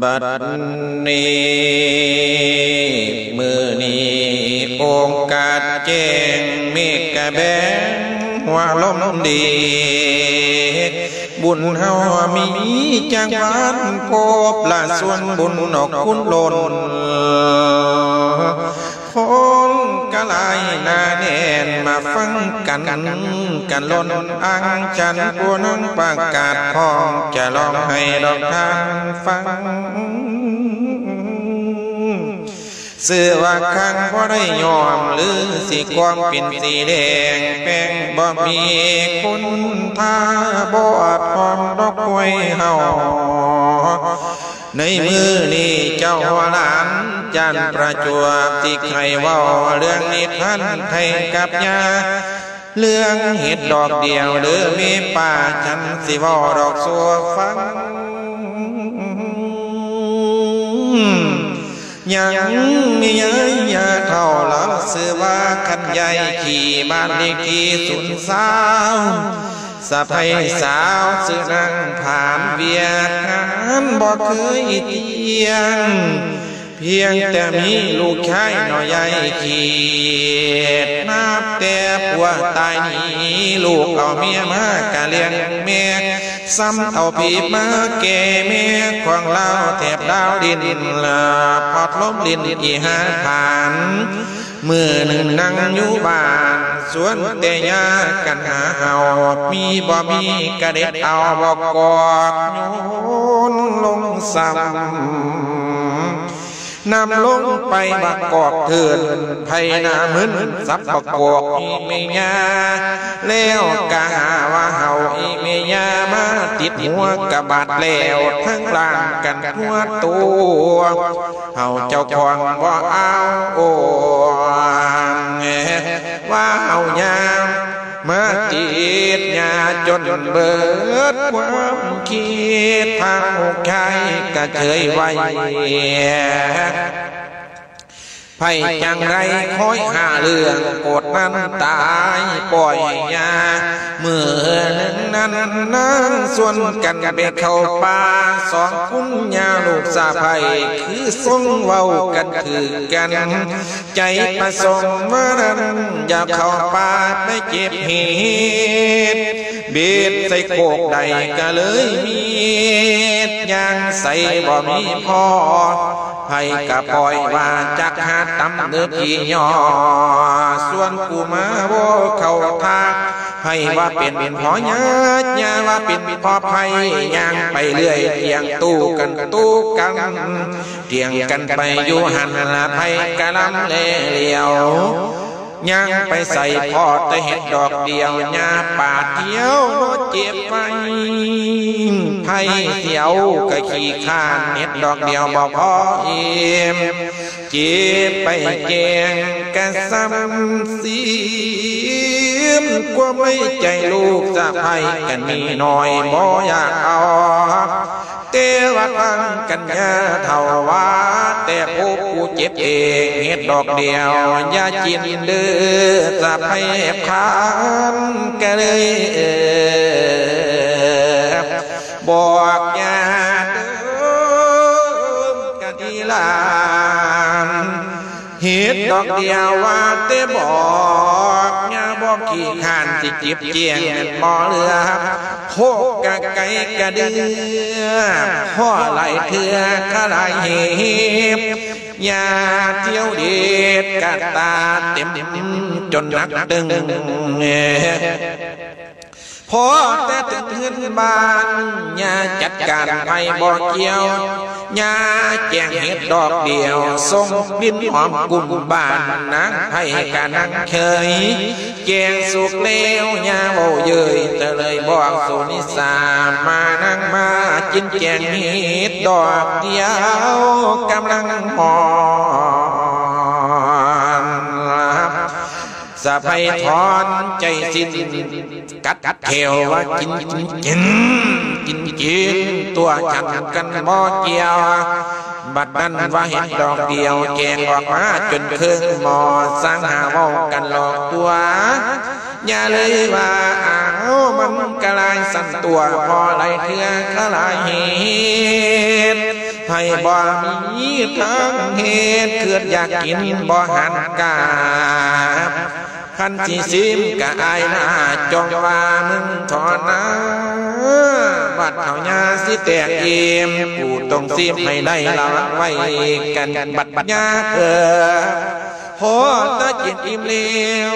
ບັດນີ້ ມື້ນີ້ໂອກາດແຈ້ງ ເມກກະແບງຫົວລົມດີ ບຸນເຮົາມີຈັກວັນ ພົບລະສ່ວນບຸນອອກຄູນລົ້ນ ຄົນກະຫຼາຍໜາແໜ້ນ ມາຟັງກັນກັນລົ້ນ ອັງຈັນຜູ້ນຳປະກາດ ພ້ອມຈະຮ້ອງໃຫ້ດອກທ່ານຟັງ. ຊື່ວ່າຄັງບໍ່ໄດ້ຍ້ອມ ຫຼືຊິຄວາມເປັນສີແດງ ແປ້ງບໍ່ມີຄຸນ ຖ້າບໍ່ອາດຫອມດອກກ້ວຍເຮົາ. ໃນມື້ນີ້ເຈົ້າຫົວຫຼານຈານປະຈວບ ຊິໃຫ້ເວົ້າເລື່ອງນິທານໃຫ້ກັບຍາ ເລື່ອງເຫັດດອກດຽວເດີແມ່ປ້າ ຈັນຊິເວົ້າດອກສູ່ຟັງ. ຍັງມີຍາຍ ຍາເຖົ້າລາວຊື່ວ່າຄັນຍາຍ ຂີ້ ບ້ານເລກທີສູນຊາວ ສະໃພ້ສາວຊື່ນາງຜານ ວຽກງານບໍ່ເຄີຍທ່ຽງ ພຽງແຕ່ມີລູກຊາຍນ້ອຍໃຫຍ່ຂີດ ນັບແຕ່ຜົວຕາຍໜີ ລູກເອົາເມຍມາກະລ້ຽງແມ່ ຊ້ຳເອົາຜີບມາແກ່ແມ່ ຂອງລາວແຖບດາວດິນ ລາພອດລົມຫຼິ້ນອີຫາຜານ. ມື້ໜຶ່ງນັ່ງຢູ່ບ້ານ ຊວນແຕ່ຍາກັນຫາເຫົ່າ ມີບໍ່ມີກະເດັດເອົາບັກກອກ ໂຍນລົງຊ້ຳ ນຳລົງໄປບັກກອກເທີນ ໄຜໜ້າມຶນສັບບັກກອກອີແມ່ຍາ ແລ້ວກະຫາວ່າເຫົ່າອີແມ່ຍາ ມາຕິດຫົວກະບາດແລ້ວ ທັງລ້າງກັນທົ່ວຕົວ ເຮົາເຈົ້າຂອງບໍ່ເອົາໂອ ວ່າເຮົາຍາມາຕິດຍາຈົນເບີດຄວາມຄິດ ທາງລູກຊາຍກະເຊີຍໄວ້ ໃຜຈັ່ງໃດຄອຍຫາເລື່ອງ ໂກດນັ້ນຕາຍປ່ອຍຍາ ມື້ໜຶ່ງນັ້ນນາງຊວນກັນໄປເຂົ້າປ່າ ສອງຄຸນຍາລູກສະໃພ້ ຄືຊົງເວົ້າກັນຖືກກັນ ໃຈປະສົງວ່ານັ້ນ ຢາກເຂົ້າປ່າໄປເກັບເຫັດ ເບັດໃສ່ໂຄກໄດ້ກະເລີຍມີດ ຍ່າງໃສບໍ່ມີພໍ ໃຜກະປ່ອຍວ່າຈັກຫາຕຳເນີທີ່ຍໍ ສ່ວນຜູ້ມາບໍ່ເຂົ້າທ່າ ໃຜວ່າເປັນພໍ່ຍາ ຍາວ່າເປັນພໍ່ໃຜ ຍ່າງໄປເລື້ອຍ ທ່ຽງຕູ້ກັນຕູ້ກັນ ທ່ຽງກັນໄປຢູ່ຫັ້ນລະ ໃຜກະລຳແລຫຼຽວ ຍ່າງໄປໃສພໍ້ແຕ່ເຫັດດອກດຽວ ຍາປາດທຽວບໍ່ເຈັບໄປ ໃຜສຽວກະຂີ້ຄ້ານ ເຫັດດອກດຽວບໍ່ພໍອີ່ມ ເຈັບໄປແກງກະຊ້ຳຊີມ ຄວາມໃນໃຈລູກສະໃພ້ກະມີໜ້ອຍບໍ່ຢາກເອົາ ແຕ່ວ່າທາງກັນຍາເຖົ້າວ່າ ແຕ່ຜູ້ ຜູ້ເຈັບເອງເຫັດດອກດຽວຢ່າກິນເດີ ສະໃພ້ພານກະເລີຍບອກຍາເດີ ກະດີຫຼານ ເຫັດດອກດຽວວ່າແຕ່ບອກ ຍາບໍ່ຂີ້ຄ້ານຊິຈິບຈຽງແມ່ນບໍ່ເຫຼືອ ໂພກກະໄກກະເດືອ ພໍຫຼາຍເທື່ອຄະຫຼາຍເຫບ ຍາທ່ຽວເດັດກະຕາເຕັມຈົນໜັກຕຶງ ພໍແຕ່ເຖິງເຮືອນບ້ານ ຍາຈັດການໃຜບໍ່ກ່ຽວ ຍາແກງເຫັດດອກດຽວ ສົ່ງກິ່ນຫອມກຸ້ມບ້ານ ນາງໃຜກະນັ່ງເຄີຍ ແກງສຸກແລ້ວ ຍາເວົ້າເຍີ້ຍ ເລີຍບອກສຸນິສາ ມານັ່ງມາກິນແກງເຫັດດອກດຽວ ກຳລັງຮ້ອນ ສະໃພ້ຖອນໃຈສິ້ນ ກັດແຂວວ່າກິນ ກິນ ກິນ ກິນ ກິນ ຕົວະ ຈຳກັນບໍ່ກ່ຽວ ບັດນັ້ນວ່າເຫັດດອກດຽວ ແກງອອກມາຈົນເຄິ່ງໝໍ້ ຊ່າງຫາເວົ້າກັນຫຼອກຕົວະ ຢ່າເລີຍວ່າ ອ້າວ ມັນກະຫຼາຍຊັ້ນຕົວະ ພໍຫຼາຍເທື່ອຄະຫຼາຍເຫດ ໃຫ້ບໍ່ມີທາງເຮັດ ຄຶດຢາກກິນບໍ່ຫັນກາບ ຄັນຊິຊິມກະອາຍໜ້າ ຈົ່ງວ່າມຶງທໍ່ນາ ບັດເຮົາຍາຊິແຕກອີ່ມ ກູຕ້ອງຊິມໃຫ້ໄດ້ລະວັງໄວ້ກັນ ບັດຍາເອີ ພໍຕາກິນອີ່ມແລ້ວ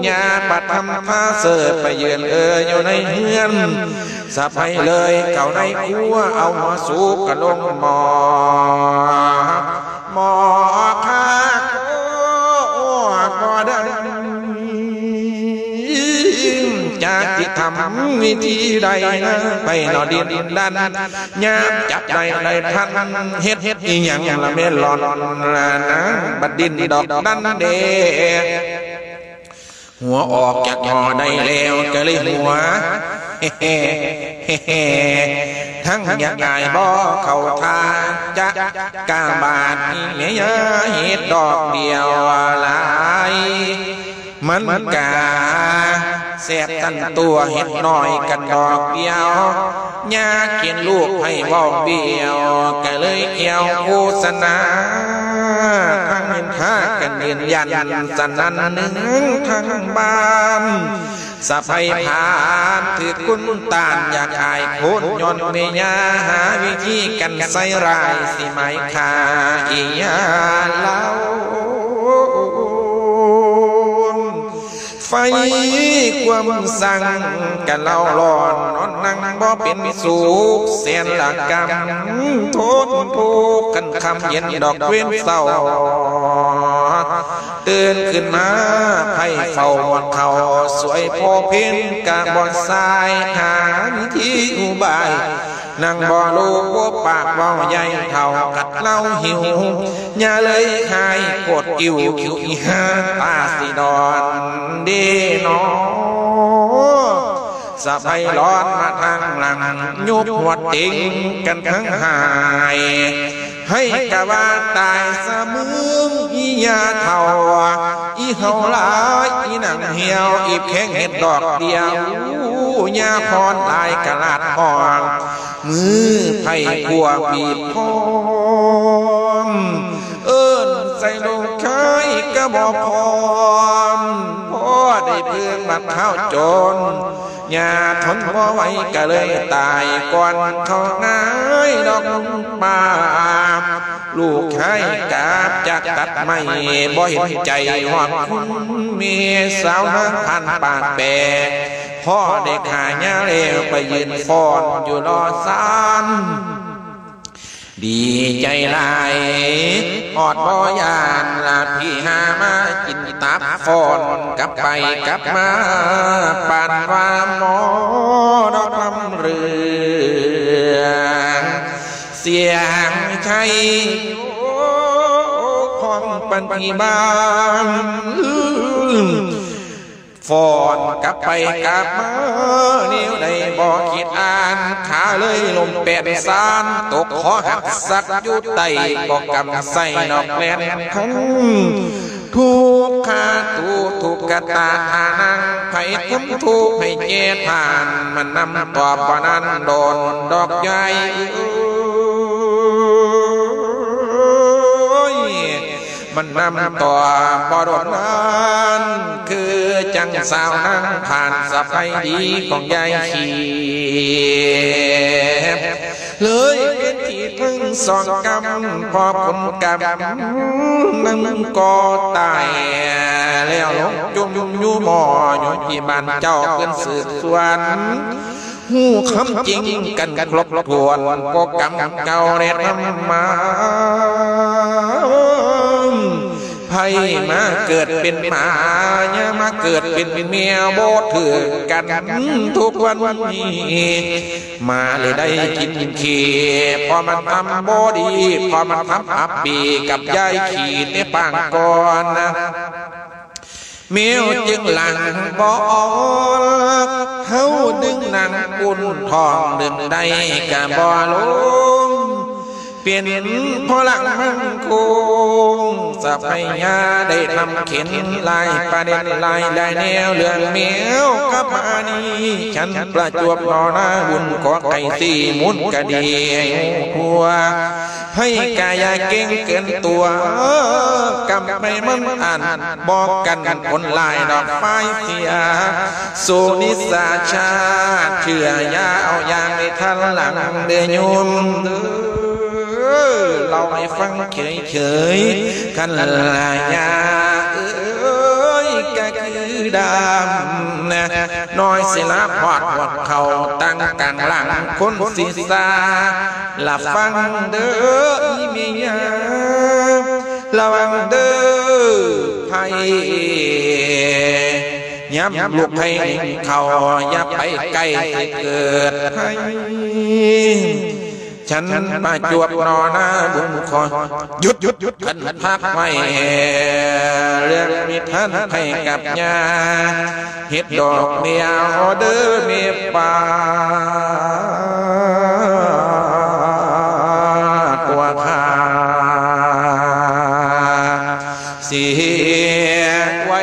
ຍາປະທຳພາເສີບໄປຢືນເອີຢູ່ໃນເຮືອນ ສະໃພເລີຍເຂົ້າໃນຄົວ ເອົາຫົວສູບກະລົງໝໍ້ ໝໍ້ຄາໂຄບໍ່ໄດ້ ຈັກຊິທຳວິທີໃດນະ ໄປເນາະດິນດັນ ຍາມຈັບໄດ້ໄດ້ທັນ ເຮັດອີ່ຫຍັງລະແມ່ນຫຼອນນາງ ບັດດິນດອກດັນເດ ຫົວອອກຈາກໝໍ້ໄດ້ແລ້ວກະເລີຍຫົວ ທັງຢາກອາຍບໍ່ເຂົ້າທ່າ ຈະກາບາດອີ່ແມ່ຍາເຮັດດອກດຽວຫຼາຍ ມັນກະແຊບທັງຕົວ ເຮັດນ້ອຍກັນດອກດຽວ ຍາກເຫັນລູກໃຜເວົ້າບ້ຽວ ກະເລີຍແອວໂຄສະນາ ທັງເຫັນພາກັນຢືນຢັນ ສະໜັ່ນໜຶ່ງທັງບ້ານ ສະໃພຜ່ານຖືກຄຸນຕ້ານ ຢາກອາຍໂຄນຍ້ອນແມ່ຍາ ຫາວິທີກັນໃສ່ຮ້າຍ ຊິໝາຍຂ້າອີ່ຍາລາວ ໄຟຄວາມສັງກະເລົ່າຮ້ອນ ນອນນັ່ງບໍ່ເປັນສຸກ ແສນລະກຳທົນທຸກ ຄັນຄ່ຳເຢັນດອກເວັນເຊົ້າ ຕື່ນຂຶ້ນມາໃຜເຝົ້າໝົດເຂົ້າ ສວຍພໍເພັນກະບໍ່ສາຍ ຫາວິທີອຸບາຍ ນັ່ງບໍ່ຮູ້ບໍ່ປາກເວົ້າໃຫຍ່ເຖົ້າກັດເລົ່າຫິວ ຍາເລີຍຄາຍໂຄດກິ່ວ ຄິວອີ່ຫາຕາຊິດອນເດນໍ ສະໃພຫຼອນມາທາງຫຼັງ ຍຸບຫົວເຕັງກັນທັງຫາຍ ໃຫ້ກະວ່າຕາຍສະມຶງ ອີ່ຍາເຖົ້າ ອີ່ເຫົ່າຫຼາຍ ອີ່ໜັງຫ່ຽວ ອີບແຂງເຮັດດອກດຽວ ຍາພອນຫຼາຍກະລາດຫ້ອງ ມືໄພຂົວບີບພ້ອມ ເອີ້ນໃສ່ລູກຊາຍກະບໍ່ພ້ອມ ພໍໄດ້ເພິ່ງບັດທ້າວຈົນ ຍາທົນບໍ່ໄຫວກະເລີຍຕາຍ ກ່ອນເຂົ້າງ່າຍດອກປ່າ ລູກຊາຍກາບຈາກຕັດໄມ້ ບໍ່ເຫັນໃຈຮອດຄຸນແມ່ ສາວນາງຜ່ານປາກແປ ພໍໄດ້ຂ້າຍາແລ້ວ ໄປຢືນຟ້ອນຢູ່ລໍຊານ ດີໃຈຫຼາຍ ຮອດບໍ່ຢ້ານລະພີ່ຫາມາກິນຕັບ ຟ້ອນກັບໄປກັບມາ ປານວ່າໝໍດອກລຳເລື່ອງ ສຽງໄທຂອງປັນທີ່ບ້ານ ຟ້ອນກັບໄປກັບມາ ແນວໃດບໍ່ຄິດອ່ານ ຂາເລີຍລົ້ມແປ້ນຊານ ຕົກຄໍຫັກສັກຢູ່ໃຕ້ ບໍ່ກຳໃສ່ນອກແລ່ນທັນ ທຸກຂາຕູທຸກກະຕາທ່ານັ່ງ ໃຜທຳທຸກໃຫ້ແກ່ທ່ານ ມັນນຳຕອບວ່ານັ້ນ ໂດນດອກໃຫຍ່ເອີຍ ມັນນຳຕໍ່ບໍ່ດົນນານ ຄືຈັ່ງສາວນາງຜ່ານ ສະໃພດີຂອງຍາຍຂີບ ເລີຍເປັນທີ່ທັງສອງກຳ ພໍຜົນກຳນັ້ນກໍຕາຍ ແລ້ວລົງຈົມຢູ່ໝໍ້ ຢູ່ທີ່ບ້ານເຈົ້າເພິ່ນສືບສວນ ຮູ້ຄວາມຈິງກັນຄົບຖ້ວນ ກໍກຳເກົ່າແລະທຳມາ ໃຜມາເກີດເປັນໝາ ຢ່າມາເກີດເປັນແມວ ບໍ່ຖືກກັນທຸກວັນນີ້ ໝາເລີຍໄດ້ກິນຂີ້ ເພາະມັນທຳບໍ່ດີ ເພາະມັນທຳອັບປີກັບຍາຍຂີ້ແຕ່ປາງກ່ອນນະ ແມວຈຶ່ງຫຼັງບໍ່ອອກ ເຮົາດຶງໜັງອຸ່ນທ້ອງດຶງໄດ້ກະບໍ່ລົງ ເປັນພໍ່ຫຼັກໝັ້ນຄົງ ສະໄພຍາໄດ້ທຳເຂັນຫຼາຍປະເດັນຫຼາຍໄດ້ແນວເລື່ອງແມວກັບອານີ ສັນປະຈວບໜໍນາບຸນ ຂໍໄກ່ສີ່ມູນກະດີໃຫ້ຮູ້ທົ່ວ ໃຜກະຢ່າເກັ່ງເກີນຕົວ ກຳໄປມັນອັນ ບໍ່ກັນຄົນຫຼາຍດອກ ຝ່າຍເສຍ ໂສນິສາຊາດ ເຊື່ອຢ່າເອົາຢ່າງໃນທັນຫຼັງເດີໂຍມເດີ ເລົ່າໃຫ້ຟັງເຂີຍໆ ຄັນລະຍາເອີຍ ກະຄືດຳນະ ນ້ອຍສິລະພອດ ພອດເຂົ້າຕັ້ງກາງຫຼັງຄົນສິສາ ລະຟັງເດີອີ່ແມ່ຍາ ລະວັງເດີໄພ ຍາມລູກໄພໜິ່ງເຂົ້າ ຢ່າໄປໃກ້ ຊິເກີດໄພ ສັນປະຈວບໜໍນາບຸນ ຂໍຢຸດ ຄັນພັກໄວ້ ເລື່ອງມີທ່ານໄພກັບຍາ ເຮັດດອກດຽວເດີແມ່ປ້າ ຕົວຂ້າເສຍໄວ້